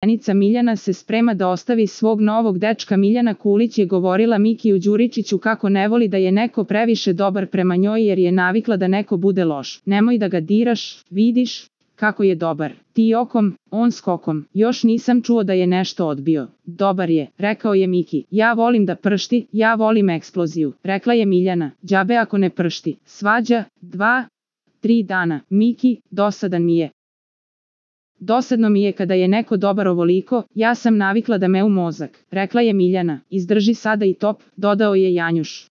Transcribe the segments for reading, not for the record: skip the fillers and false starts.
Poverenica Miljana se sprema da ostavi svog novog dečka. Miljana Kulić je govorila Mikiju Đuričiću kako ne voli da je neko previše dobar prema njoj jer je navikla da neko bude loš. Nemoj da ga diraš, vidiš kako je dobar. Ti okom, on skokom. Još nisam čuo da je nešto odbio. Dobar je, rekao je Miki. Ja volim da pršti, ja volim eksploziju, rekla je Miljana. Đabe ako ne pršti. Svađa, 2-3 dana. Miki, dosadan mi je. Dosadno mi je kada je neko dobar ovoliko, ja sam navikla da me u mozak, rekla je Miljana. Izdrži sada i top, dodao je Janjuš.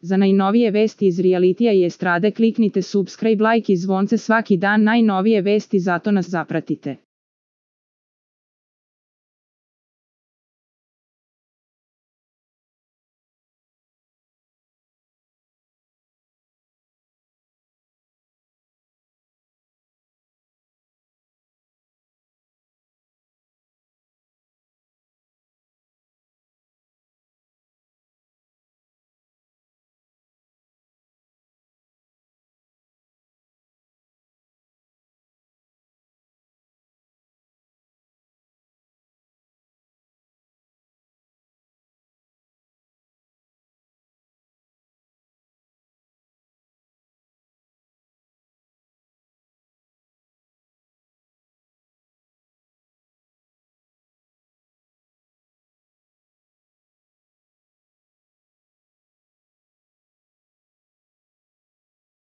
Za najnovije vesti iz realitija i estrade kliknite subscribe, like i zvonce svaki dan. Najnovije vesti, zato nas zapratite.